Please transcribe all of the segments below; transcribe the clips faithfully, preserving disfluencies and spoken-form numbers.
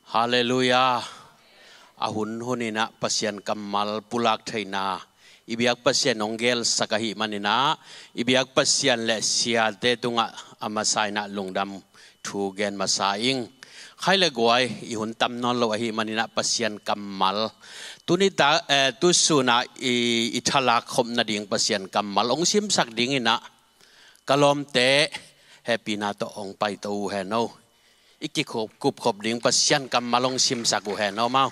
Halleluiah. A hun huninah Pasian kammal pulak theihna i biak Pasian hong gelsak ahih maninah i biak Pasian le siate tungah a masa inah lungdam thu gen masa ing. Khai le guai, i hun tam nawn lo ahih maninah Pasian kammal tuni ta, eh, tusunah i, i thalak khop nading Pasian kammal hong simsak dinginah ka lawmte hehpihna tawh hong paito uh hen o. I kikupkhop ding Pasian kammal hong simsak uh hen o mau.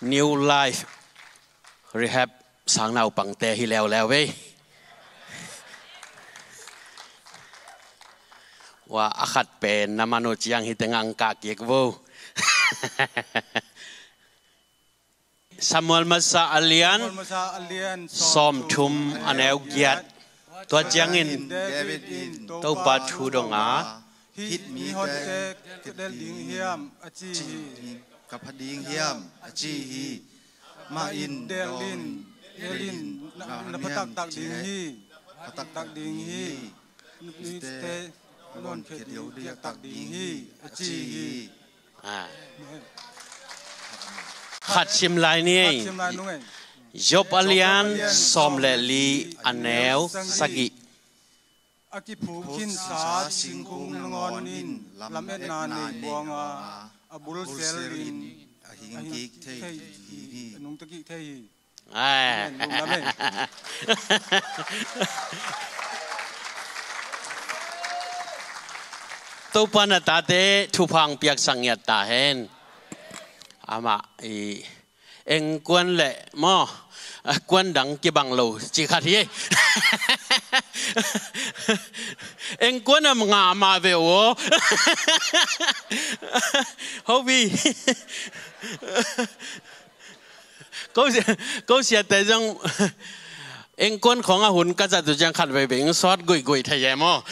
New Life Rehab sang naupangte hi leuleu ei. Wa, a khat pen na man uh ciang hi tengah ang kah kik vo. Samuel masa a lian Samuel masa a lian sawmthum a neu giat. Tua ciangin David in Topa thu dong a, "Hih mihonte ka del ding hiam?" a ci hi. "Ka pha ding hiam?" a ci hi. Amah in, "Del in, del in, na, na pha taktak ding hi, pha taktak ding hi. Mite a lawnkhiat ding, diaktak ding hi," a ci hi. Ah. Khat sim lai ni ei. Khat sim lai nung ei. Job a lian sawm le li a neu sagih. A kiphuk khinsa singkung nangawn in lametna nei buang a, a bul selin a hing kik thei hi. A nungta kik thei hi. Ai. Amen. Lungdam ei. Topa na tate thupha hong piaksak ngiat ta hen. Amah i engkuan le maw, a, kuan dang kibang lo ci khat hi. Engkuan a nga mah ve uh aw. Hopi. Ko sia, ko siate zong engkuan khawng a hun ka zat uh ciang khat veivei ing sawt guihguih thei e maw.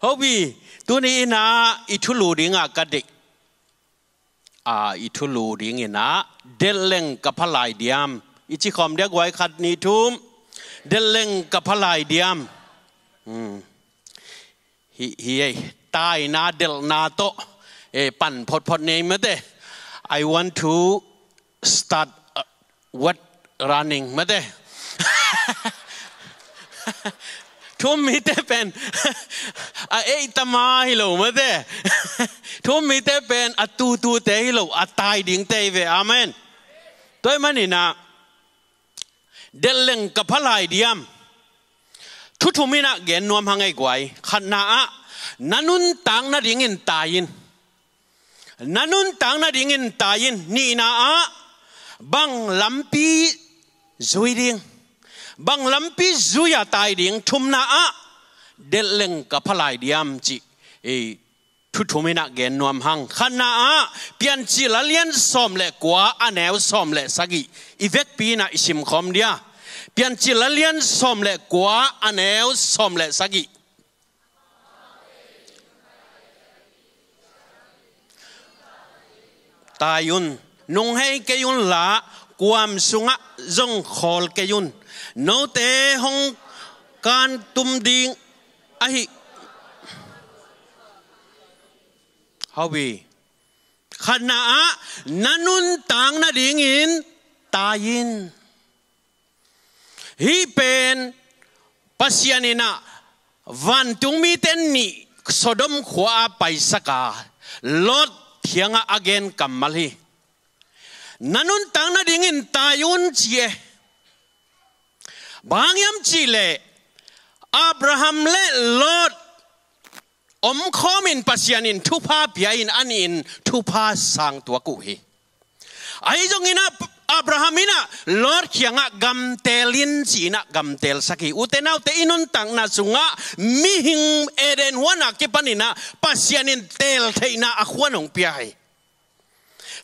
Hopi, tuni inah i thulu dingah ka deih, a, i thulu dinginah, "Delhleng ka pha lai diam?" I ci khawm dia guai, khat, nih, thum. "Delhleng ka pha lai diam?" Hmm. Hi, hi ei, taina delhna tawh, eh, pan photphot nei mate. "I want to start, uh, what running," mate. Thu-um mite pen a ei tama hi lo mate. Thu-um mite pen a tutute hi lo, a tai dingte hi ve. Amen. Tua ahih maninah, "Delhleng ka pha lai diam?" Thu thum inah gen nuam hang ei guai. Khatna ah, na nuntak nadingin tai in. Na nuntak nadingin tai in. Nihna ah, bang lampi zui ding, bang lampi zui a tai ding. Thumna ah, "Delhleng ka pha lai diam?" cih, eh, thu thum inah gen nuam hang. Khatna ah, Piancil a lian sawm le kua a neu sawm le sagih i vekpi inah i simkhawm dia. Piancil a lian sawm le kua a neu sawm le sagih. Tai un, nunghei kei unla, kuam sungah zong khawl kei un. Note hong kantum ding ahi. Hopi. Khatna ah, na nuntak nadingin tai in. Hih pen Pasian inah vantung mite nih Sodom khua-ah paisaka Lot kiangah a gen kammal hi. Na nuntak nadingin tai un ci e. Bang hang hiam cihleh Abraham le Lot omkhawmin Pasian in thupha pia in, a nih in thupha sang tuak uh hi. Ahi zongin ah Abraham inah Lot kiangah gamtel in ci-inah gamtelsak hi. Ute naute, i nuntakna sungah mihing Eden huan a kipaninah Pasian in teltheihna a khuan hong pia hi.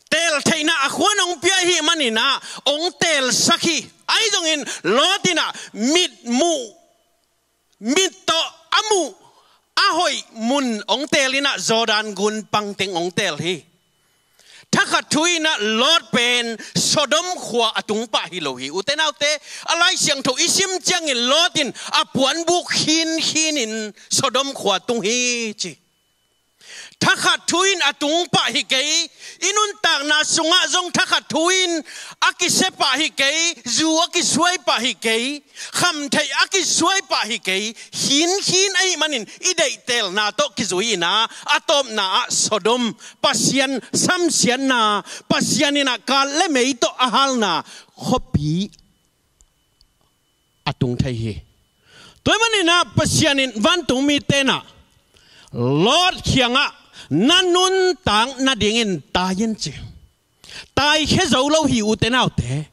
Teltheihna a khuan hong pia ahih maninah hong telsak hi. Ahi zongin Lot inah mit muh, mit tawh a muh a hoih mun hong tel inah Jordan gun pangteng hong tel hi. Thak Thakhat thu in ah Lot pen Sodom khua a tung pah hi lo hi. Ute naute, a Lai Siangtho i sim ciangin Lot in a puanbuk khinkhin in Sodom khua tung hi ci. Thakhat thu in a tung pah hi kei, i nuntakna sungah zong thakhat thu in a kisia pah hi kei, zu a kisuai pah hi kei, khamtheih a kisuai pah hi kei, khinkhin ahih manin i deihtelna tawh kizui in ah, a tawpna ah Sodom, Pasian samsiatna, Pasian in ah kal le mei tawh a halna khuapi a tung thei hi. Tua ahih manin ah Pasian in vantungmite in ah Lot kiangah na nuntak nadingin tai in ci. Taikhia zo lo hi, ute naute.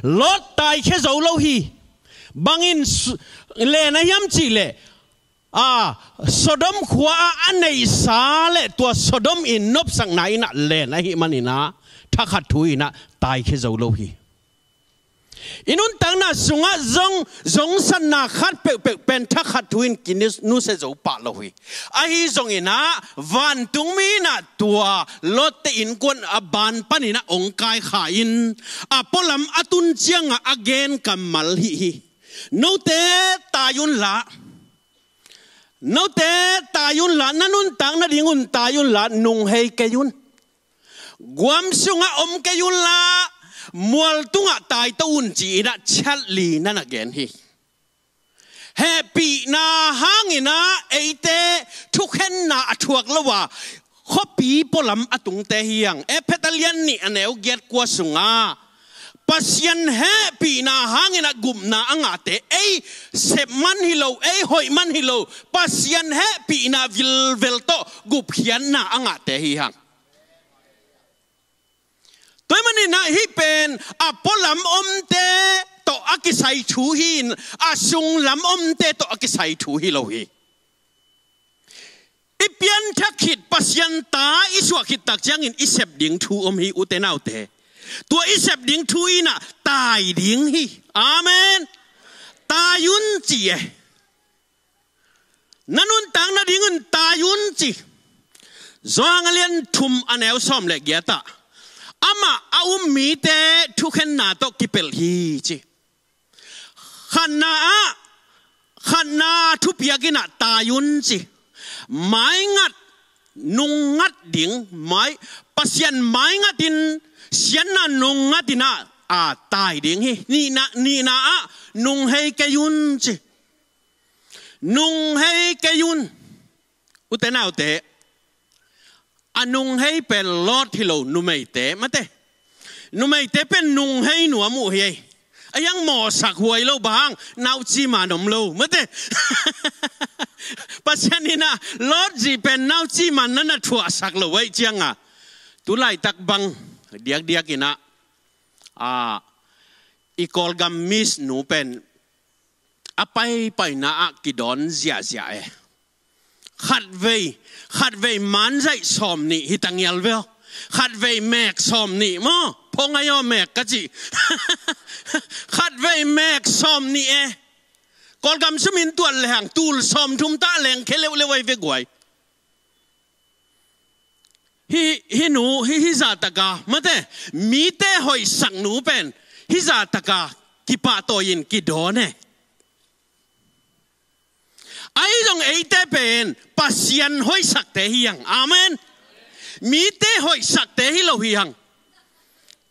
Lot taikhia zo lo hi. Bangin su-, len a hiam cih leh, a, Sodom khua ah a neihsa le tua Sodom in nopsakna in ah len ahih manin ah thakhat thu in ah taikhia zo lo hi. I nuntakna sungah zong, zongsatna khat peuhpeuh pen thakhat thu in kinusia zo pah lo hi. Ahi zongin ah, vantungmi in ah tua Lot-te innkuan a ban panin ah ong kaikhia in, a pualam a tun ciangah a gen kammal hih hi. Note tai unla, note tai unla, na nuntak nadingun tai unla, nunghei kei un. Guam sungah om kei unla, mual tungah taito un ci-in ah chiat li na na gen hi. Hehpihna hangin ah eite thukhenna a thuak lo a, khuapi pualam a tungte hi hang. Efesa lian nih a neu giat kua sungah Pasian hehpihna hangin ah gupna a ngahte, ei sep man hi lo, ei hoih man hi lo, Pasian hehpihna vilvel tawh gupkhiatna a ngahte hi hang. Tua ahih manin ah hih pen a pualam omte tawh a kisai thu hi in, a sunglam omte tawh a kisai thu hi lo hi. I pianthak khit, Pasian ta i suah khit tak ciangin i sep ding thu om hi, ute naute. Tua i sep ding thu in ah tai ding hi. Amen. Tai un ci e. Na nuntak nadingun tai un ci. Johan a lian thum a neu sawm le giat ah, amah a um mite thukhenna tawh kipelh hi ci. Khatna ah, khatna thupiak in ah tai un ci. Maingat, nungngat ding, mai, Pasian maingatin, siatna nungngatin ah, a tai ding hi. Nihna, nihna ah, nunghei kei un ci. Nunghei kei un. Ute naute, a nunghei pen Lot hi lo, numeite, mate. Numeite pen nunghei nuam uh hi ei. A hiang mawhsak huai lo, bang hang, nauci man om lo, mate. Pasian in ah Lot zi pen nauci man na na thuahsak lo ahih ciangah, tu laitak bang diakdiak in ah, a, i Kawlgam Miss nu pen a paipaina ah kidawn ziahziah e. Khatvei, khatvei manzaih sawm nih hi ta ngial ve aw. Khatvei mek sawm nih maw. Phongai aw, mek ka cih. Khatvei mek sawm nih e. Kawlgam sum in tuat lehang tul sawm thum ta leng khia leuleu ahi ve guai. Hih, hih nu, hih, hih zah taka, mate, mite hoihsak nu pen hih zah taka kipahtawi in kidawn e. Ahi zong eite pen Pasian hoihsakte hi hang. Amen. Mite hoihsakte hi lo hi hang.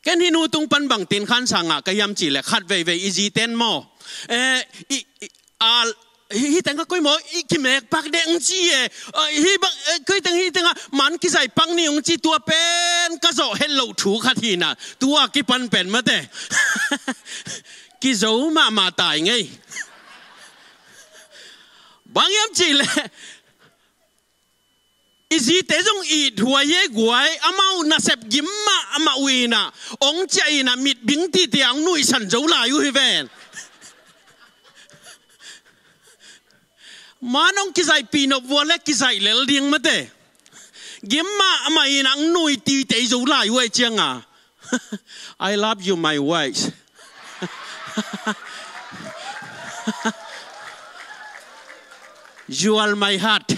Ken hih nu tung pan bangtin khansa ngah ka hiam cih leh, khat veivei i zite in maw, eh, i, i, a, hih, hih teng ka koi maw, i kimek pak dek ung ci e, eh, hih bang, eh, koi teng hih teng ah man kizaih pak ni ung ci, tua pen ka zawh het loh thu khat hi na, tua kipan pen mate. Kizo mahmah tai ngei. Bang hiam cih leh, i zite zong it huai e guai, amau nasep gim mahmah uh in ah, ong ciah in ah, mitbing titi a ong nuihsan zo lai uh hi ven. Man ong kizaihpih nop vua leh kizaih lel ding mate. Gim mahmah in ah ong nui titi zo lai uh ahih ciangah. I love you, my wife. You are my heart.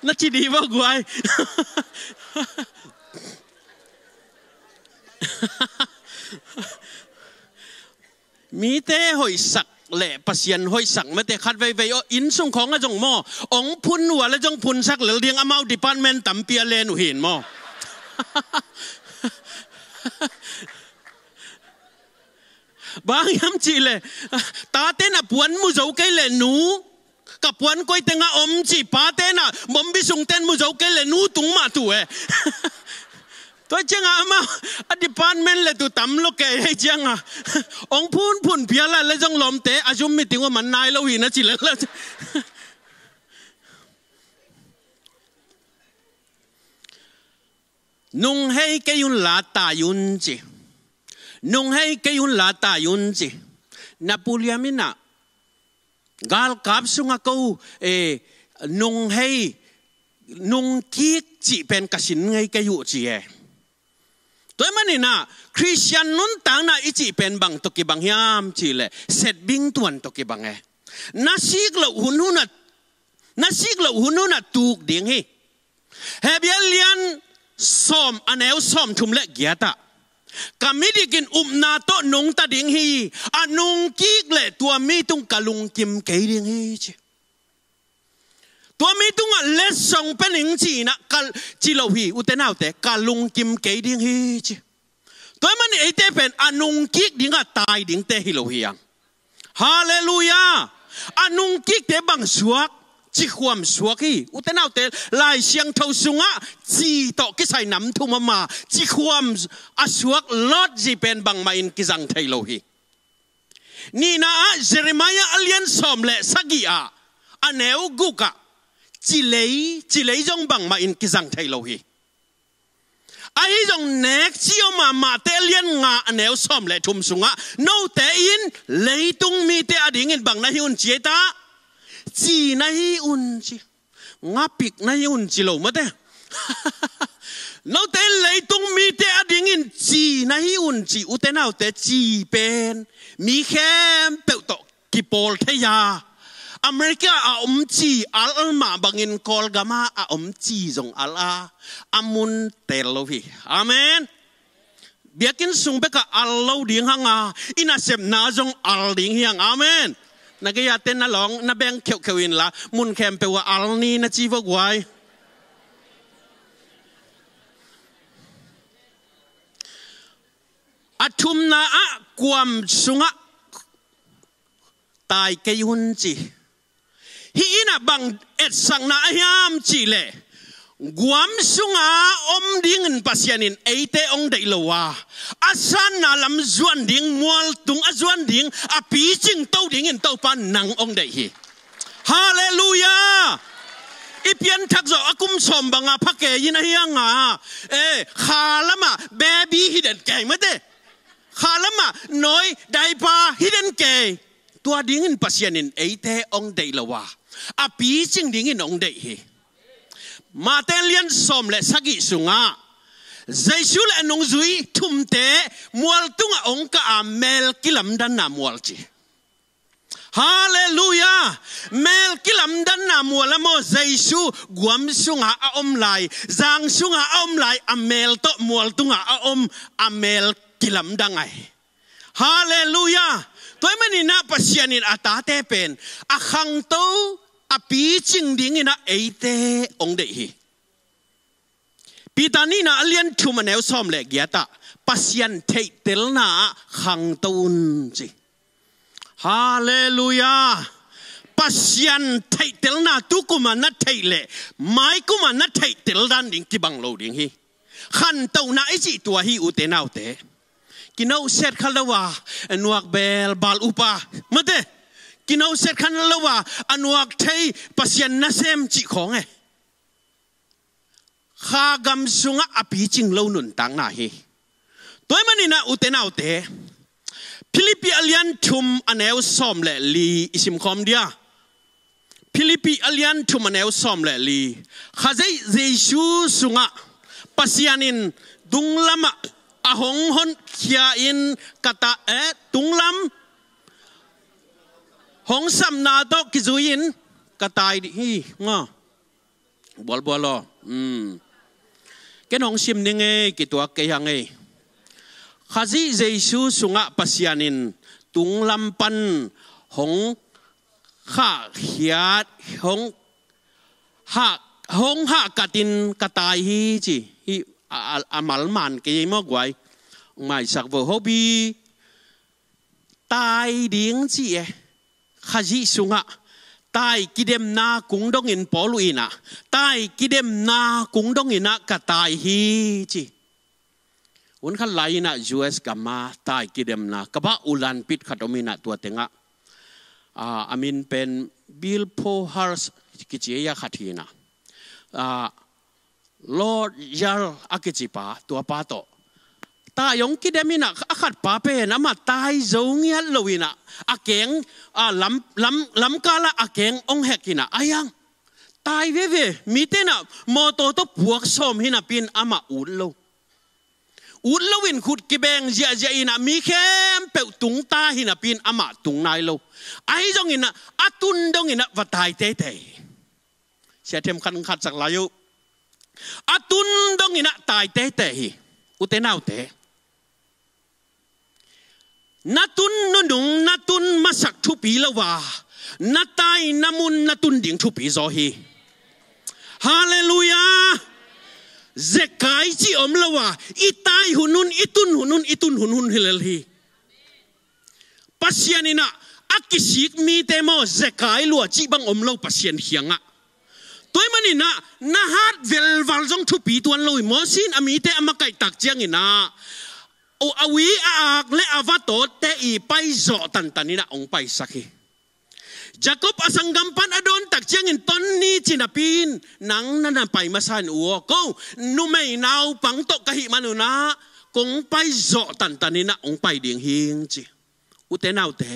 Na ci di vo guai. Mite hoihsak le Pasian hoihsak mate khat veivei aw, inn sung khawng a zong maw, ong phun uh a le zong phunsak lel ding, amau department tampi a len uh hin maw. Bang hiam cih le, tate na puan mu zo kei le nu, ka puan koi tengah om ci, pate na bombi sung ten mu zo kei le nu tung mah tu e. Tua ciangah amah a department le tu tam lo kei hei ciangah, ong phun phun piala le zong lawmte a zum meeting uh man nai lo hi na ci le la. Nung hei kei un la tai un ci. Nung hei kei un la tai un ci. Na Pu Liam in ah, galkap sungah ko, eh, nung hei, nung kik cih pen ka sin ngei kei uh ci e. Tua ahih manin ah, Khristian nuntakna i cih pen bang tawh kibang hiam cih leh, setbing tuan tawh kibang e. Na sik loh hun hun ah, na sik loh hun hun ah tuk ding hi. Hebru a lian sawm, a neu sawm thum le giat ah, ka midik in upna tawh nungta ding hi. A nungkik leh tua mi tung ka lungkim kei ding hi ci. Tua mi tungah letsong pia ning ci-in ah ka ci lo hi, ute naute, ka lungkim kei ding hi ci. Tua ahih manin eite pen a nungkik dingah tai dingte hi lo hi hang. Halleluiah. A nungkikte bang suak, cikhuam suak hi. Ute naute, Lai Siangtho sungah ci tawh kisai nam thum om a, cikhuam a suak Lot zi pen bangmah in kizang thei lo hi. Nihna ah Jeremiah a lian sawm le sagih ah, a neu guk ah, cilei, cilei zong bangmah in kizang thei lo hi. Ahi zong nek ci om a, Mate a lian nga a neu sawm le thum sungah, note in leitung mite adingin bang na hi un ci ei ta? Ci na hi un ci. Ngapik na hi un ci lo mate. Note in leitung mite adingin ci na hi un ci, ute naute, ci pen mi khempeuh tawh kipawl thei a. America a om ci al al mah bangin Kawlgam ah a om ci zong al a, a mun tel lo hi. Amen. Biakinn sung bekah al lo ding hang a, i nasepna zong al ding hi hang. Amen. Na gei a ten na lawng, na beng kheuhkheuh inla, mun khempeuh ah al ni na ci vo guai. A thumna ah kuam sungah tai kei un ci. Hih in ah bang etsakna a hiam cih leh, guam sunga om dingin Pasian in eite hong deih lo a, a sanna lam zuan ding, mualtung a zuan ding, a picing to dingin Topa nang hong deih hi. Halleluiah. I pianthak zawh a kum sawm banga pha kei in ahi hang a, eh, kha lamah baby hi den kei mate. Kha lamah nawi, diaper hi den kei. Tua dingin Pasian in eite hong deih lo a, a picing dingin hong deih hi. Mate lian sawm le sagih sungah Jesu le a nungzui thumte mual tungah hong kah a, mel kilamdanna mual ci. Halleluiah. Mel kilamdanna mual a maw, Jesu guam sungah a om lai, zang sungah a om lai, a mel tawh mual tungah a om, a mel kilamdang ai. Halleluiah. Tua ahih manin ah Pasian in a tate pen a khangto, a picing dingin ah eite hong deih hi. Peter nihna a lian thum a neu sawm le giat ah Pasian theihtelna ah khangto un ci. Halleluiah. Pasian theihtelna tukum a na theih leh maikum a na theihtel dan ding kibang lo ding hi. Khantohna i cih tua hi, ute naute. Kinohset kha lo a nuak bel bal upa mate. Kinohset kha lo a a nuak thei Pasian nasem cih khawng e. Kha gam sungah a picing lo nuntakna hi. Tua ahih manin ah, ute naute, Philippi a lian thum a neu sawm le li i simkhawm dia. Philippi a lian thum a neu sawm le li. Kha zei Jesu sungah Pasian in tunglamah a hong honkhia in ka ta, eh, tunglam hong sapna tawh kizui in ka tai dih hi. Nga. Bualbual aw. Hmm. Ken hong sim ning ei, kituak kei hang ei. Khazih Jesu sungah Pasian in tunglam pan hong khahkhiat, hong hah, hong hahkatin ka tai hi ci. Hih a, a, a malman kei maw guai. Maisak vo hobi tai ding ci e. Khazih sungah tai kidemna kung dongin Paul uh inah, tai kidemna kung donginah ka tai hi ci. Hun khat lai inah U S gama tai kidemna ka bah ulan pit khat om inah tua tengah, ah, a min pen Bill Poharst kici a khat hi inah, ah, Lord Yar a kici pa, tua pa tawh tai hong kidem inah, a khat pa pen amah tai zo ngiat lo inah, a keng, ah, lam, lam, lamkalah a keng hong hek inah, a hiang tai veve, mite inah mawtaw tawh puak sawm hi napi in amah ut lo. Ut lo in khut kibeng ziahziah inah mi khempeuh tung ta hi napi in amah tung nai lo. Ahi zongin ah a tun dongin ah va tai teitei. Sia Them khat khat sak lai uh. A tun dongin ah tai teitei hi. Ute naute, na tun nunung, na tun masak thupi lo a, na taina mun na tun ding thupi zaw hi. Halleluiah. Zekai cih om lo a, i tai hun hun, i tun hun hun, i tun hun hun hi lel hi. Pasian inah a kisik mite maw, zekai lua cih bang om lo Pasian kiangah. Tua ahih manin ah na hat velval zong thupi tuan lo hi. Moses in a mite a makaih tak ciangin ah, a ui a ak le a va tawtte i paizawh tantan inah hong paisak hi. Jacob a sanggam pan a dawn tak ciangin ton ni ci napi in, nang na na pai masa in u aw, ko numei naupang tawh ka hih manun ah kong paizawh tantan inah hong pai ding hing ci. Ute naute,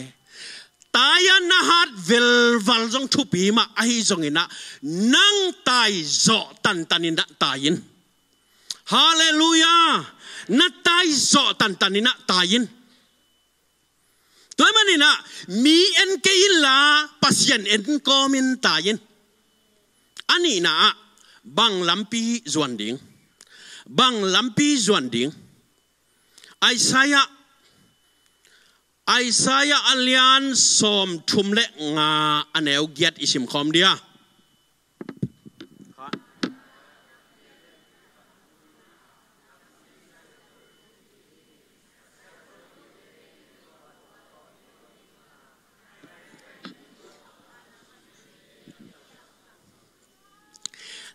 tai a na hat velval zong thupi mah ahi zongin ah nang taizawh tantan inah tai in. Halleluiah. Na taizawh tantan inah tai in. Tua ahih manin ah mi en kei inla Pasian en kawmin tai in. A nihna ah bang lampi zuan ding? Bang lampi zuan ding? Isaiah, Isaiah a lian sawmthum le nga, a neu giat i simkhawm dia.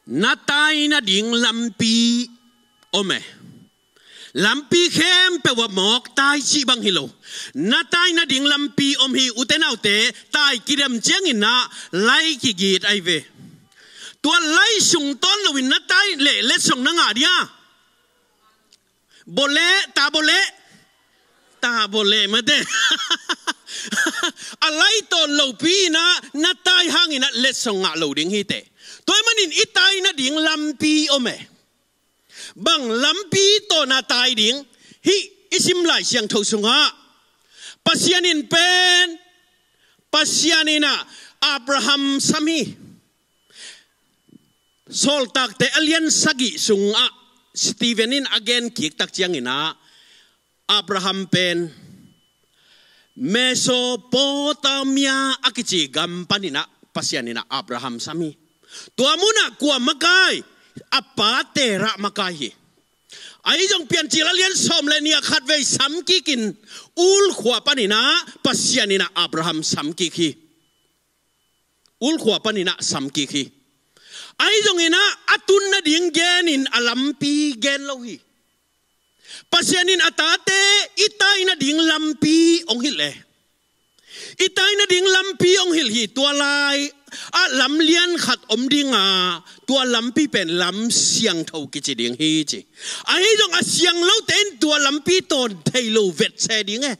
Na tai nading lampi om e. Lampi khempeuh ah mawk tai cih bang hi lo. Na tai nading lampi om hi. Ute naute, tai kidem ciangin ah lai kigit ahi ve. Tua lai sung tawn loin na tai leh letsong na ngah dia? Bawleh, ta bawleh. Ta bawleh mate. A lai tawn lopi inah na tai hangin ah letsong ngah lo ding hi teh. Tua ahih manin i tai nading lampi om e. Bang lampi tawh na tai ding? Hih i sim Lai Siangtho sungah Pasian in pen, Pasian inah Abraham sam hi. Sawltakte a lian sagih sungah Stephen in a gen kik tak ciangin ah Abraham pen Mesopotamia a kici gam panin ah Pasian inah Abraham sam hi. Tua munah kua makai? A pa Terah makai hi. Ahi zong Piancil a lian sawm le nih ah khatvei sam kikin Ur khua panin ah Pasian inah Abraham sam kik hi. Ur khua panin ah sam kik hi. Ahi zongin ah a tun nading genin a lampi gen lo hi. Pasian in a tate i tai nading lampi hong hilh e. I tai nading lampi hong hilh hi. Tua lai ah lam lian khat om ding a, tua lampi pen lam siangtho kici ding hi ci. Ahi zong a siang lote in tua lampi tawn thei lo vet se ding e.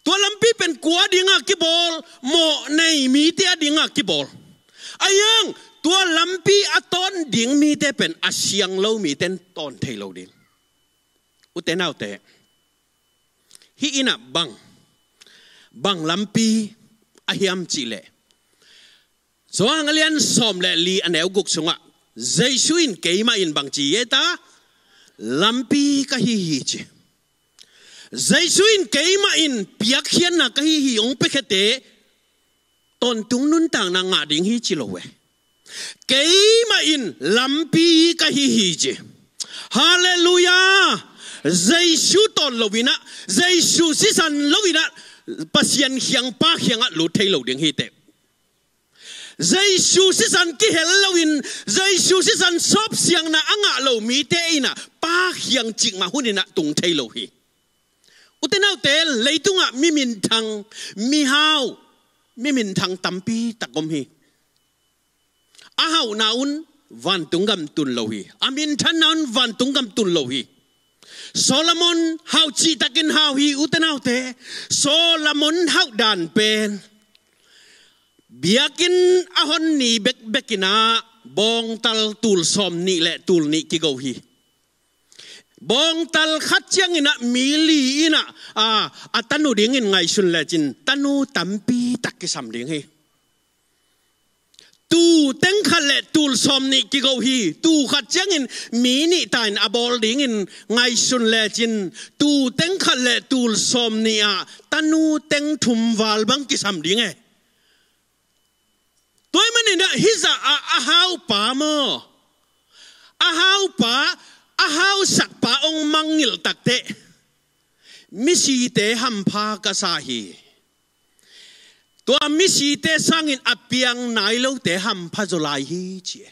Tua lampi pen kua dinga kibawl? Mawh nei mite a dinga kibawl. Ahi hang tua lampi a tawn ding mite pen a siang lo mite in tawn thei lo ding. Ute naute, hih inah bang, bang lampi a hiam cih leh, Johan a lian sawm le li, a neu guk sungah Jesu in keimah in bang ci e ta? Lampi ka hi hi ci. Jesu in keimah in piakkhiatna ka hi hi hong piakhiate tawntung nuntakna ngah ding hi ci lo e. Keimah in lampi ka hi hi ci. Halleluiah. Jesu tawn lo inah, Jesu sisan lo inah, Pasian khiang, Pa khiangah lut thei lo ding hi teh. Jesu sisan kihel loin, Jesu sisan sawpsiangna a ngah lo mite inah Pa khiang cikmah hun inah tung thei lo hi. Ute naute, leitungah mi minthang, mi hau, mi minthang tampi tak om hi. A hauhna un vantung gam tun lo hi. A minthanna un vantung gam tun lo hi. Solomon hau cihtakin hau hi, ute naute. Solomon hauh dan pen biakinn a hon ni bekbek inah bawngtal tul sawm nih le tul nih kigo hi. Bawngtal khat ciang inah mi li inah, a, a tanu dingin ngaihsun lecin tanu tampi tak kisam ding hi. Tuu teng khat le tul sawm nih kigo hi. Tuu khat ciangin mi nih ta in a bawl dingin ngaihsun lecin tuu teng khat le tul sawm nih ah tanu teng thum val bang kisam ding e. Tua ahih manin ah hih zah a, a haupa maw, a haupa, a hausakpa hong mangngilh takteh misite hampha ka sa hi. Tua misite sangin a piang nai lote hampha zaw lai hi ci e.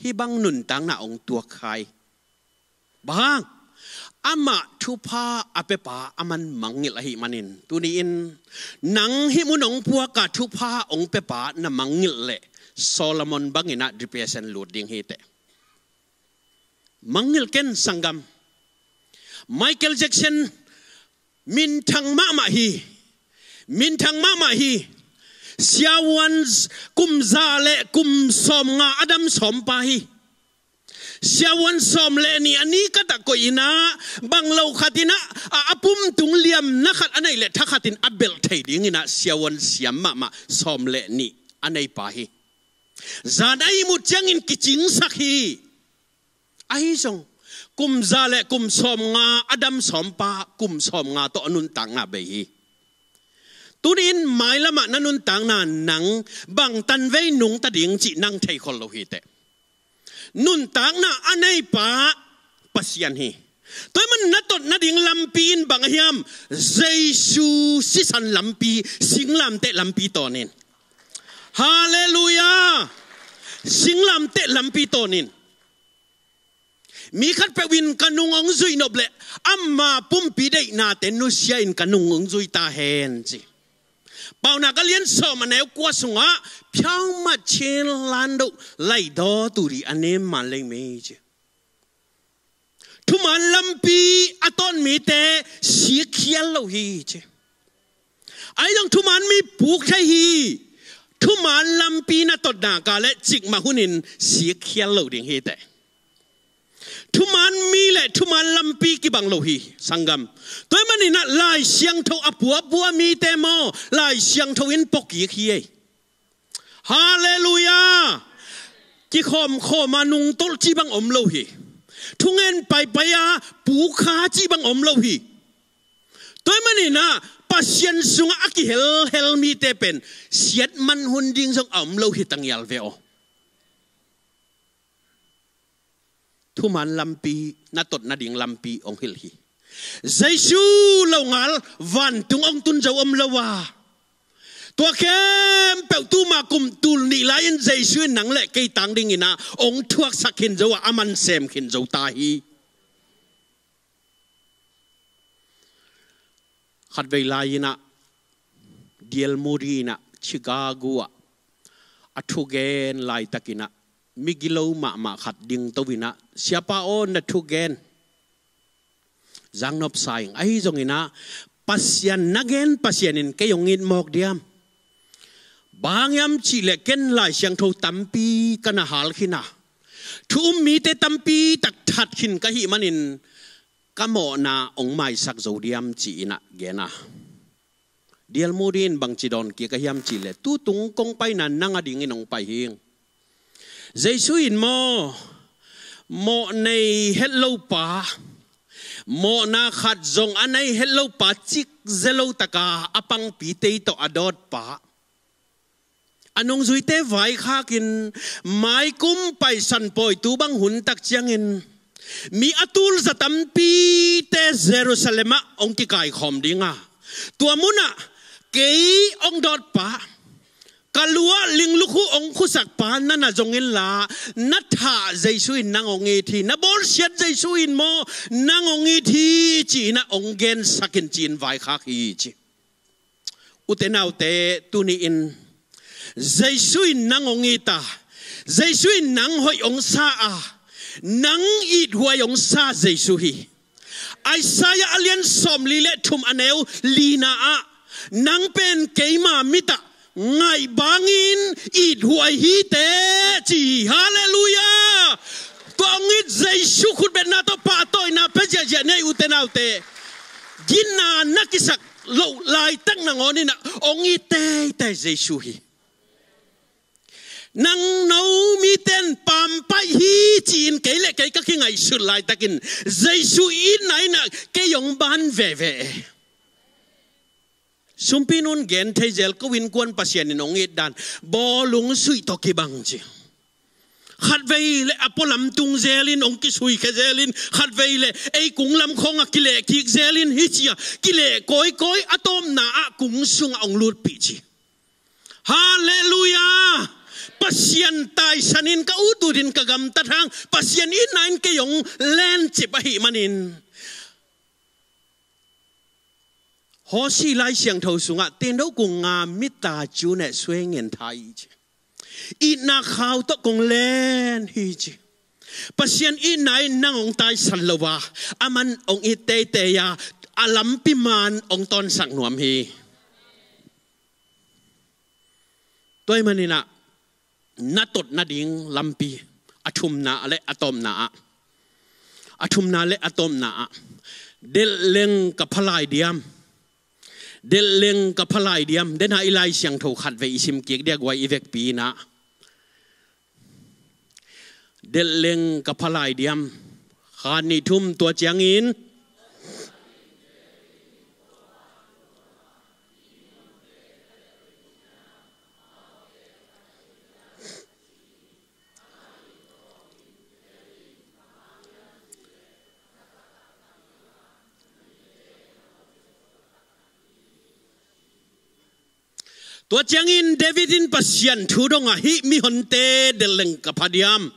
Hih bang nuntakna hong tuak kha hi. Bang hang? Amah thupha a piapa a man mangngilh ahih manin, tuni-in nang hih mun hong puaka thupha hong piapa na mangngilh leh Solomon bang inah depression lut ding hi teh. Mangngilh ken sanggam. Michael Jackson minthang mahmah hi. Minthang mahmah hi. Siavuan kum za le kum sawmnga a dam sawmpa hi. Siavuan sawm le nih a ni khat ah koih inah, bang lo khat inah, a, a pumtung liamna khat a neih leh thakhat in a belh thei ding inah siavuan siam mahmah sawm le nih a neipa hi. Zan a ihmut ciangin kicingsak hi. Ahi zong kum za le kum sawmnga a dam sawmpa, kum sawmnga tawh a nuntakna bei hi. Tuni-in mailamah na nuntakna nang bang tanvei nungta ding cih nang theikhol lo hi teh. Nuntakna a neipa Pasian hi. Tua ahih man na tot nading lampi in bang a hiam? Jesu sisan lampi, singlamteh lampi tawn in. Halleluiah. Singlamteh lampi tawn in. Mi khatpeuh in ka nung hong zuih nop leh ama pumpi deihnate nusia in ka nung hong zui ta hen ci. Paunak a lian sawm a neu kua sungah, phiaumat chin landoh laidaw turi a nem man lei mei ci. Thuman lampi a tawn mite sikkhial lo hi ci. Ahi zong thuman mi puk thei hi. Thuman lampi na tot nak leh cikmah hunin sikkhial lo ding hi teh. Thuman mi le thuman lampi kibang lo hi, sanggam. Tua ahih manin ah Lai Siangtho a puapua mite maw, Lai Siangtho in puakik hi ei. Halleluiah. Kikhawmkhawm a nungtolh cih bang om lo hi. Thungen paipai a puk kha cih bang om lo hi. Tua ahih manin ah Pasian sungah a kihelhel mite pen siatman hun ding zong a om lo hi, tangial ve aw. Thuman lampi, na tot nading lampi hong hilh hi. Jesu lo ngal vantung hong tun zo om lo a, tua khempeuh tuma kum tul nih lai-in Jesu in nang le kei tang dingin ah hong thuaksak khin zo a, a man sem khin zo ta hi. Khatvei lai-in ah D L Moody in ah Chicago ah a thugen laitakin ah migilo mahmah khat dingto in ah, "Siapa aw, na thugen zangnop sa ing. Ahi zongin ah Pasian na gen Pasian in kei hong it mawk diam? Bang hang hiam cih leh ken Lai Siangtho tampi ka na hal khin a, thu um mite tampi tak that khin ka hih manin ka mawhna hong maisak zo diam?" ci-in ah gen a. D L Moody in bangci dawn kik a hiam cih leh, "Tutung kong paina nang adingin hong pai hing. Jesu in maw, Mawh nei het lo pa, mawhna khat zong a nei het lo pa, cik ze lo taka a pangpi tei tawh a dawt pa, a nungzuite vaikhakin maikum Paisan pawi tu bang hun tak ciangin mi a tul za tampite Jerusalem ah hong kikaikhawm ding a, tua munah kei hong dawt pa, ka lu ah linglukhu hong khusak pa na na zong inla, na thah Jesu in nang hong it hi, na bawlsiat Jesu in maw nang hong it hi, ci-in ah hong gensak in ci-in vaikhak hi ci. Ute naute, tuni-in Jesu in nang hong it a, Jesu in nang hoih hong sa a, nang ithuai hong sa Jesu hi. Isaiah a lian sawmli le thum a neu lina ah, nang pen keima mit ah ngaih bangin ithuai hi teh, ci hi. Halleluiah. Tua hong it Jesu khutbetna tawh pahtawina pia ziahziah ni ei, ute naute. Gina na kisak loh laitak nangawn in ah hong it teitei Jesu hi. Nang no miten pampaih hi ci-in kei le kei ka kingaihsut laitakin Jesu itna in ah kei hong ban veve. Sumpi nun gen thei zel, ko innkuan Pasian in hong it dan bawlung suih tawh kibang ci. Khatvei le a pualam tung zelin hong kisui khia zelin, khatvei le ei kung lam khawngah kileh kik zelin, hi ci-a kileh kawikawi, a tawpna ah kung sungah hong lutpih ci. Halleluiah. Pasian taisanin ka ut utin ka gamtat hang, Pasian itna in kei hong lencip ahih manin, Hosea Lai Siangtho sungah, "Tin do kung nga mita cu ne suai ngen tha hi," ci. "Itna khau tawh kong len hi," ci. Pasian itna in nang hong taisan lo a, aman hong it teitei a, a lampi man hong tawnsak nuam hi. Tua ahih manin ah, na tot nading lampi, a thumna le a tawpna ah, a thumna le a tawpna ah, delhleng ka pha lai diam, delhleng ka pha lai diam. Dena i Lai Siangtho khatvei i sim kik dia, guai i vekpi in ah, delhleng ka pha lai diam. Khat, nih, thum, tua ciangin. Tua ciangin David in Pasian thu dong a, "Hih mihonte delhleng ka pha diam?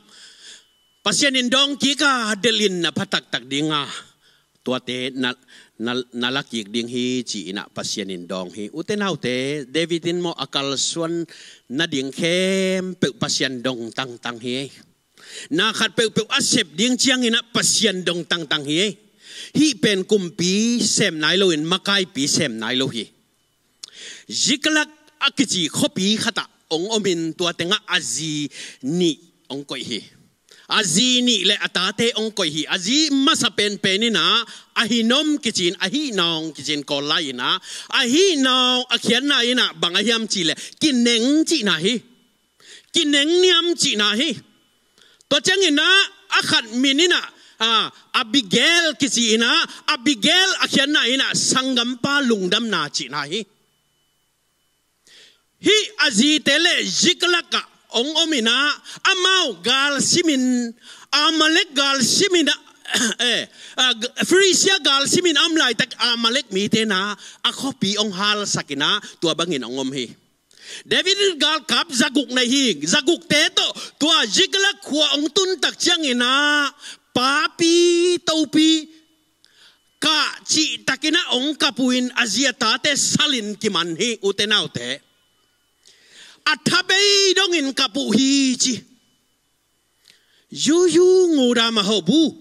Pasian in dawng kik a, delh in na pha taktak ding a, tuate na, na, na la kik ding hi," ci-in ah Pasian in dawng hi. Ute naute, David in maw a kalsuan nading khempeuh Pasian dong tangtang hi. Na khat peuhpeuh a sep ding ciangin ah Pasian dong tangtang hi. Hih pen kumpi sem nai loin makaipi sem nai lo hi. Ziklag a kici khuapi khatah hong omin, tua tengah a zi nih hong koih hi. A zi nih le a tate hong koih hi. A zi masa penpen in ah Ahinoam kici-in, Ahinawng kici-in Kawl lai in ah, Ahinawng a khiatna in ah bang ahi hiam cih leh kineng cihna hi. Kineng niam cihna hi. Tua ciangin ah a khat min in ah, a, Abigail kici in ah, Abigail a khiatna in ah sanggampa lungdamna cihna hi. Hih a zite le Ziklag ah hong om in ah, amau gal simin, Amalek gal simin ah, eh, a, G-, Filistia gal simin a om laitak Amalek mite in ah a khuapi hong halsak in ah, tua bangin hong om hi. David in galkap zaguk nei hi. Zagukte tawh tua Ziklag khua hong tun tak ciangin ah, papi topi kah cihtakin ah hong kap uh in, a zi a tate salin kiman hi, ute naute. A tha bei dongin kap uh hi ci. Yuyu nguda mahobu.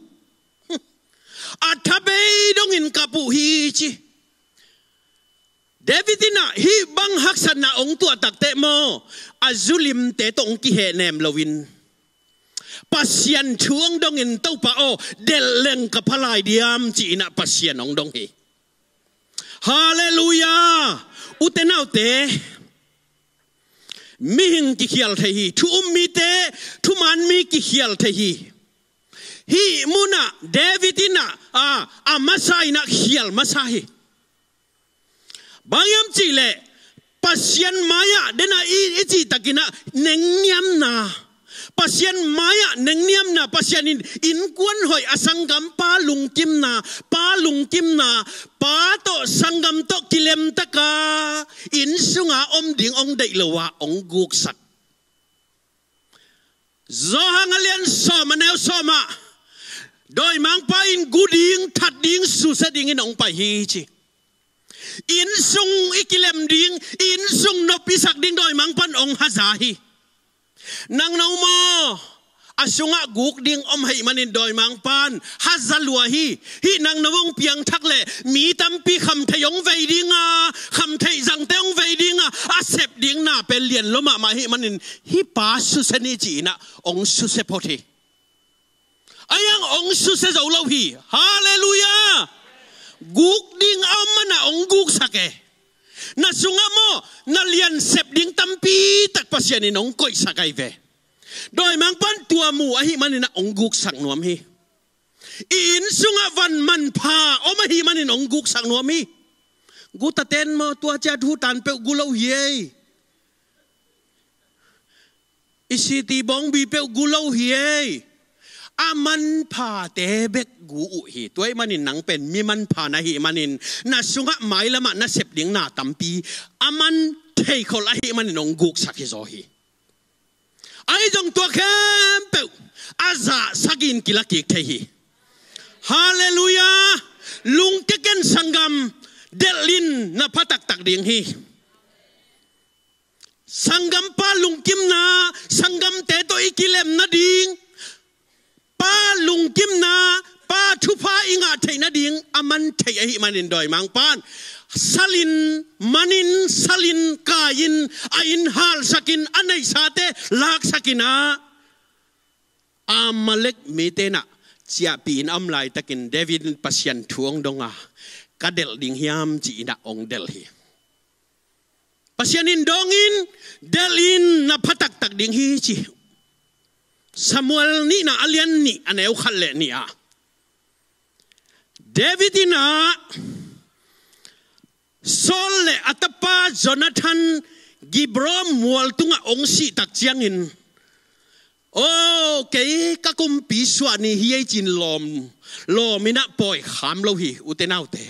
A tha bei dongin kap uh hi ci. David in ah hih bang haksatna hong tuah takteh maw, a zulimte tawh hong kihehnem loin, Pasian thu hong dongin, "Topa aw, delhleng ka pha lai diam?" ci-in ah Pasian hong dong hi. Halleluiah. Ute naute, mihing kikhial thei hi. Thu um mite, thuman mi kikhial thei hi. Hih munah David in ah, a, a masa in ah khial masa hi. Bang hiam cihleh, Pasian mai-ah dena i, i cihtakin ah nengniamna, Pasian mai-ah nengniamna, Pasian in innkuan hoih, a sanggampa lungkimna, pa lungkimna, pa tawh sanggam tawh kilemtaka inn sunga om ding hong deih lo-a hong guksak. Johan a lian sawm a neu sawm ah, dawimangpa in gu ding, that ding, susia dingin hong pai hi ci. Inn sung i kilem ding, inn sung nop i sak ding dawimangpa in hong haza hi. Nang no maw, a sungah guk ding om ahih manin dawimangpa in haza lua hi. Hih nang no hong piangthak leh mi tampi khamtheih hong vei ding a, khamtheih zangte hong vei ding a, a sep ding na pen lian lua mahmah ahih manin hih pa susia ni ci-in ah hong susia phot hi. Ahi hang hong susia zo lo hi. Halleluiah. Guk ding a om man ah hong guksak e. Na sungah maw, na lian sep ding tampi tak Pasian in hong koihsak ahi ve. Dawimangpa in tua mu ahih manin ah hong guksak nuam hi. I inn sungah van manpha om ahih manin hong guksak nuam hi. Guta ten maw, tua ciat hutan peuh gu lo hi ei. I siti bawngbi peuh gu lo hi ei. A manphate bek gu uh hi. Tua ahih manin nang pen mi manpha na hih manin, na sungah mailamah na sep ding na tampi a man theikhol ahih manin hong guksak hi zaw hi. Ahi zong tua khempeuh a zah sagih in kila kik thei hi. Halleluiah. Lungkia ken sanggam, delh in, na pha taktak ding hi. Sanggampa lungkimna, sanggamte tawh i kilem nading, pa lungkimna, pa thupha i ngah theih nading a man thei ahih manin dawimangpa in salin, manin, salin, kai-in, a inn halsakin, a neihsate laksakin ah, Amalek mite in ah ciahpih in a om laitakin David in Pasian thu hong dong a, ka delh ding hiam ci-in ah hong delh hi. Pasian in dawng in, delh in, na pha taktak ding hi ci. Samuel nihna a lian nih a neu khat le nih ah, David in ah Saul le a tapa Jonathan Gibea mual tungah hong sih tak ciangin, "O, kei ka kumpi suah ni hi ei," ci-in lawm, lawm in ah pawi kham lo hi, ute naute.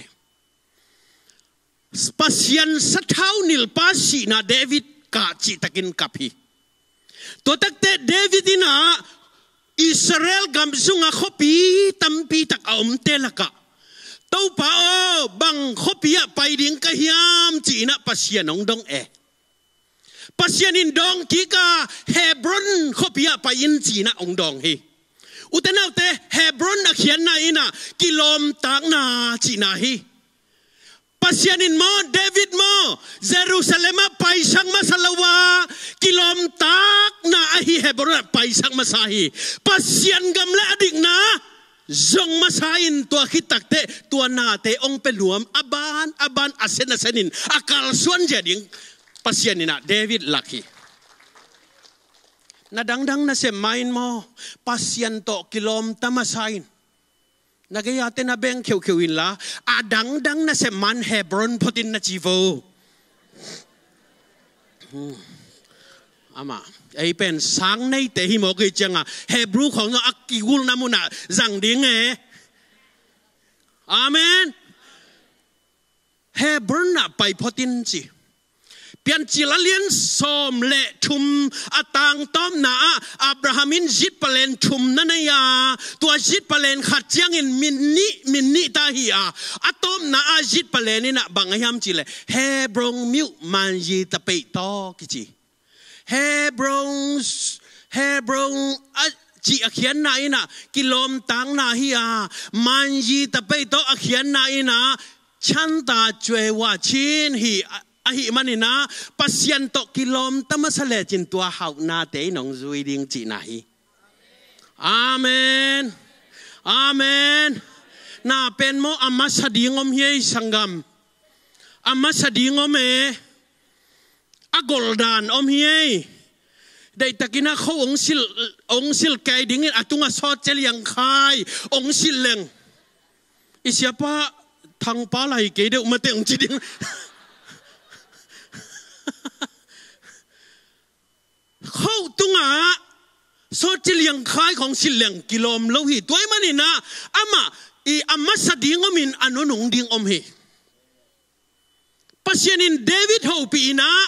Pasian sathau nilhpa sihna David kah cihtakin kap hi. Tua takteh David in ah Israel gam sungah khuapi tampi tak a omte lakah, "Topa aw, bang khuapi ah pai ding ka hiam?" ci-in ah Pasian hong dong e. Pasian in dawng kik a, "Hebron khuapi ah pai in," ci-in ah hong dawng hi. Ute naute, Hebron a khiatna in ah kilawmtatna cihna hi. Pasian in maw, David maw, Jerusalem ah paisak masa lo a, kilawmtatna ahi Hebron ah paisak masa hi. Pasian gam le a dikna zong masa in, tua khit takteh tua nate hong pia nuam, a ban a ban, a sen a sen in a kalsuan zia ding Pasian in ah David lak hi. Na dangdang nasem ma-in maw, Pasian tawh kilawmta masa in. Na gei-ate na beng kheukheu inla, a dangdang nasem ma-in Hebron phot in na ci vo. Hmm. Amah, ei pen sang neite hi mawk ei ciangah Hebrew khawng a kigulhna munah zang ding e. Amen. Hebron ah pai phot in ci. Piancil a lian sawm le thum, a tang tawpna ah Abraham in zitpalen thum na nei a, tua zitpalen khat ciangin min nih, min nih ta hi a, a tawpna ah zitpalen in ah bang a hiam cih leh, Hebron miuh manzi tapeih tawh kici. Hebron, Hebron a cih a khiatna in ah kilawmtatna hi a, manzi tapeih tawh a khiatna in ah chanta cuei wah chin hi a, ahih manin ah Pasian tawh kilawmta masa lecin tua hauhnate in hong zui ding cihna hi. Amen. Amen. Na pen maw, a masa ding om hi ei, sanggam. A masa ding om e. A goldan om hi ei. Deihtakin a kho ong silh, ong silh kei dingin a tungah sawt cel iang khai ong silh leng, i siapa Thangpa lai kei deuh mate ong ci ding. Kho tungah sawt cel iang khai khong silh leng kilawm lo hi. Tua ahih manin ah amah i a masa ding om in a nunung ding om hi. Pasian in David hopih in ah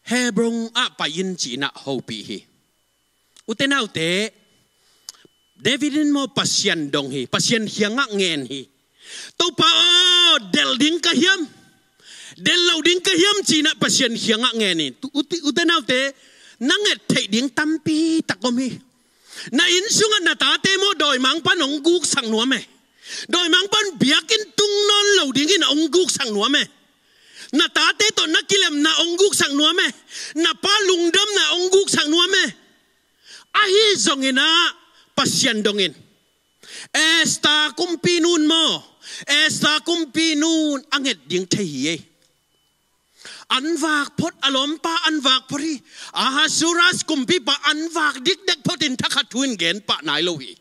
Hebron ah pai in ci-in ah hopih hi. Ute naute, David in maw Pasian dong hi, Pasian kiangah ngen hi. Topa aw, delh ding ka hiam? Delh lo ding ka hiam ci-in ah Pasian kiangah ngen hi. Tu-, ute, ute naute, na nget theih ding tampi tak om hi. Na inn sungah na tate maw dawimangpa'n ong guksak nuam e. Dawimangpa'n biakinn tung nawn lo dingin ong guksak nuam e. Na tate tawh na kilemna ong guksak nuam e. Na pa lungdamna ong guksak nuam e. Ahi zongin ah Pasian dongin. Esther kumpinu maw, Esther kumpinu a nget ding thei hi e. An vak phot, a lawmpa an vak phot hi. Ahasuerus kumpipa an vak dikdek phot in thakhat thu in gen pah nai lo hi.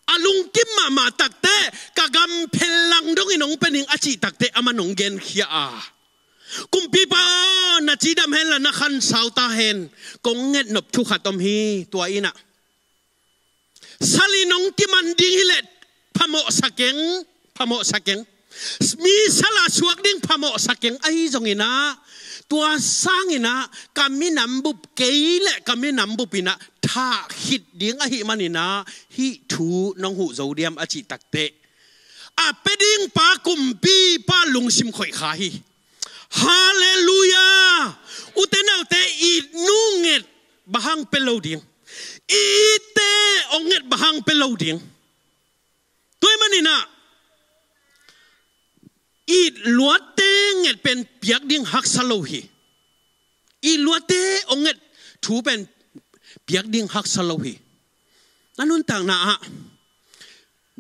A lungkim mahmah takteh, ka gam phellang dongin ong pia ning a cih takteh, aman ong genkhia a, kumpipa aw, na cidam hen la, na khansau ta hen, kong ngetnop thu khat om hi. Tua in ah sal in ong kiman ding hileh phamawhsa keng, phamawhsa keng. Mi sal a suak ding phamawhsa keng. Ahi zongin ah tua sangin ah ka minam bup kei leh ka minam bup in ah thah khit ding ahih manin ah hih thu nong huh zo diam a cih takteh, a pia ding pa kumpipa lungsim khoih kha hi. Halleluiah. Ute naute, i nu nget bang hang pia lo ding? I itte ong nget bang hang pia lo ding? Tua ahih manin ah i luatte nget pen piak ding haksa lo hi. I luatte ong nget thu pen piak ding haksa lo hi. Na nuntakna ah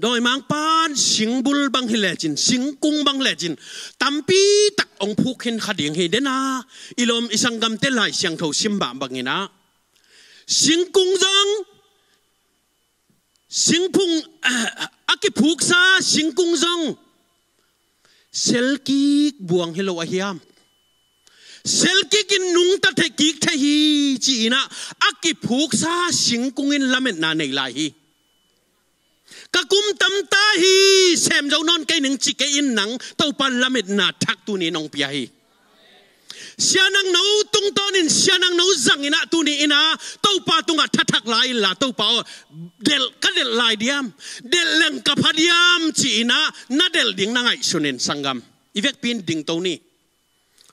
dawimangpa'n singbul bang hi lecin, singkung bang lecin, tampi tak ong phuk khin kha ding hi. Dena i lawm i sanggamte Lai Siangtho sim bang bangin ah singkung zong, singphung, a kiphuksa singkung zong selkik buang hi lo a hiam? Selkik in nungta thei kik thei hi ci-in ah a kiphuksa singkung in lametna nei lai hi. Ka kum tamta hi, sem zo nawn kei ning ci kei in nang, Topa'n lametna thak tuni in ong pia hi. Sia Nangno tungtawnin, Sia Nangno zangin ah tuni in ah Topa tungah thathak lai inla, Topa aw, delh, ka delh lai diam? Delh leng ka pha diam ci-in ah na delh ding na ngaihsun in, sanggam. I vekpi in dingto ni.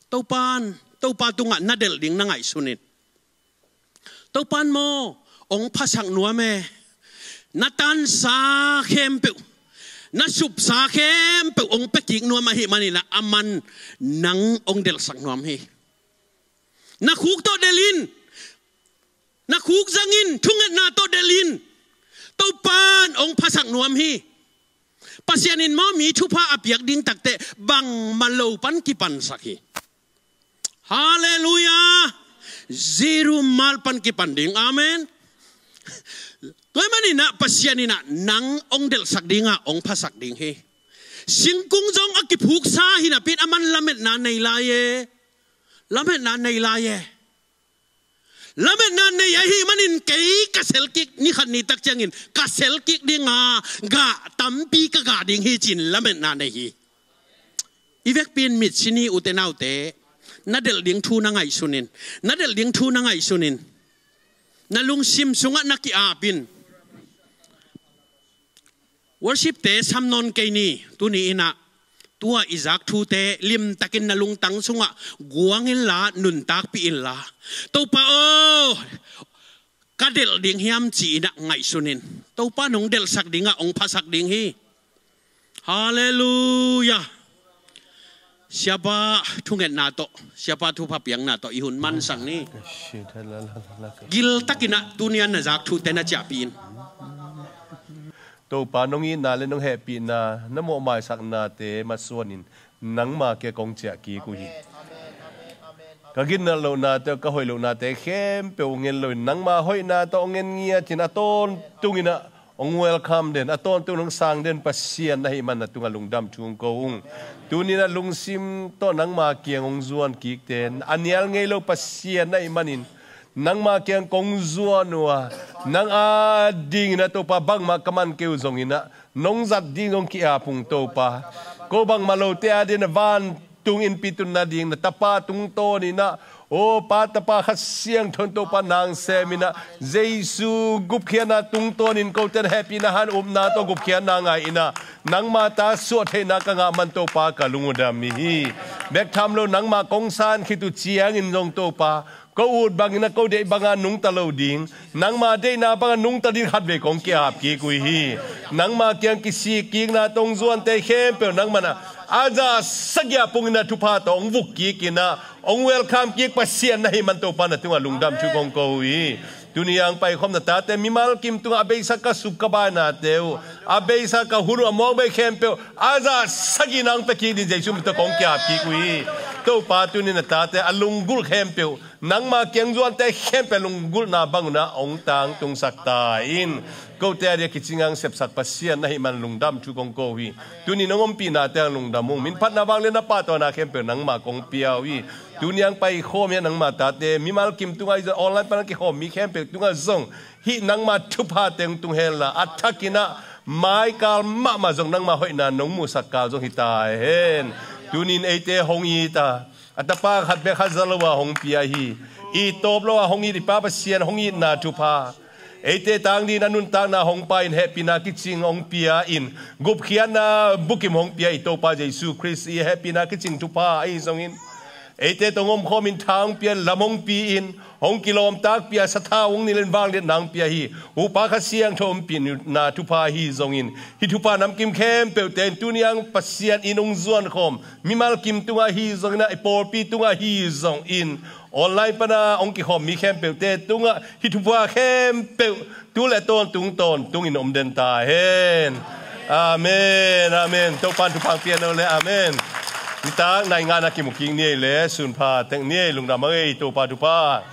Topa'n, Topa tungah na delh ding na ngaihsun in. Topa'n maw ong phasak nuam e. Na tansa khempeuh, na supsa khempeuh ong pia kik nuam ahih manin ah aman nang ong delhsak nuam hi. Na khuk tawh delh in, na khuk zangin, thungetna tawh delh in. Topa'n ong phasak nuam hi. Pasian in maw mi thupha a piak ding takteh bangmah lo pan kipansak hi. Halleluiah. Zero mal pan kipan ding. Amen. Tua ahih manin ah Pasian in ah nang ong delhsak ding a, ong phasak ding hi. Singkung zong a kiphuksa hi napi in aman lametna nei lai e. Lametna nei lai e. Lametna nei ahih manin kei ka selkik, ni khat ni tak ciangin ka selkik ding a, gah tampi ka gah ding hi ci-in lametna nei hi. I vekpi in mitsi ni, ute naute, na delh ding thu na ngaihsun in. Na delh ding thu na ngaihsun in. Na lungsim sungah na ki-ap in. Worship-te sam nawn kei ni. Tuni in ah tua i zak thute limtakin na lungtang sungah guang inla, nuntakpih inla, Topa aw, ka delh ding hiam ci-in ah ngaihsun in. Topa'n ong delhsak ding a, ong phasak ding hi. Halleluiah. Siapa thungetna tawh, Siapa thupha piakna tawh i hun mansak ni. Giltakin ah tuni a na zak thute na ciahpih in. Topa, nong itna le nong hehpihna, na mawhmaisaknate masuanin nangma kiang kong ciah kik uh hi. Ka gitnat lohnate, ka hoih lohnate khempeuh hong en loin nangma hoihna tawh hong en ngiatin a tawntungin ah hong welcome den, a tawntungin hong sang den Pasian na hih man na tungah lungdam thu hong ko ung. Tuni-in ah lungsim tawh nangma kiang hong zuan kikte, a nial ngei lo Pasian na hih manin nangma kiang kong zuan uh a, nang adingin ah Topa bangmah ka man kei uh zongin ah nong zat ding zong ki-ap ung Topa. Ko bangmah lote adingin ah vantung innpi tun nading na Tapa tungtawnin ah, aw Pa, Tapa, Kha Siangtho in Topa nang semin ah, Jesu gupkhiatna tungtawnin kote na hehpihna han upna tawh gupkhiatna ngah in ah, nangma ta suah theihna ka ngah man Topa ka lung uh dam hi. Bek tham lo nangma kong san khit uh ciangin zong Topa, ko ut bangin ah ko deih banga nungta lo ding, nangma deihna banga nungta ding khatvei kong ki-ap kik uh hi. Nangma kiang kisik kikna tawh hong zuante khempeuh nangman ah a zah sagih a pungin ah thupha tawh hong vuk kikin ah hong welcome kik Pasian na hih man Topa na tungah lungdam thu kong ko uh hi. Tuni-in ah hong paikhawm na tate mimal kim tungah a beisa ka sup ka bainate uh, a beisa ka hun uh, a mawkmei khempeuh a zah sagih na hong pia kik ding Jesu min tawh kong ki-ap kik uh hi. Topa, tuni-in na tate a lunggulh khempeuh, nangma kiang zuante khempeuh lunggulhna bangun ah hong tangtungsak ta in. Kote adingin kicing hong sepsak Pasian na hih man lungdam thu kong ko uh hi. Tuni-in hong ompihnate hong lungdam ung. Minphatna, vangliatna, pahtawina khempeuh nangma kong pia uh hi. Tuni-in hong paikhawm hi a nangma tate mimal kim tungah hi zong, online pan hong kikhawm mi khempeuh tungah zong hih nangma thuphate hong tung henla, a thakin ah maikal mahmah zong nangma hoihna nong muhsak kal zong hi ta hen. Tuni-in eite hong it a, a tapa khat bek khat za lo a hong pia hi. It tawp lo a hong it i Pa Pasian hong itna thupha, eite tang dingin a nuntakna hong pai-in hehpihna kicing hong pia-in, gupkhiatna bukim hong pia i Topa Jesu Khrist i hehpihna kicing thupha ahi zongin, eite tawh hong omkhawmin tha hong pia-in, lam hong pi-in, hong kilawmtakpih a, sathau hong nilhin vangliatna hong pia hi. Upa Kha Siangtho ompihna thupha ahi zongin, hih thupha namkim khempeuhte in tuni-in ah Pasian in hong zuankhawm mimal kim tungah ahi zongin ah, i pawlpi tungah ahi zongin, online pana hong kikhawm mi khempeuhte tungah hih thupha khempeuh tu le tawntung tawntungin om den ta hen. Amen, amen. Topa in thupha hong pia hen aw le, amen. Nitak nai nga-na kimu kik ni ei le, sunpha tek ni ei, lungdam hang ei, Topa thupha.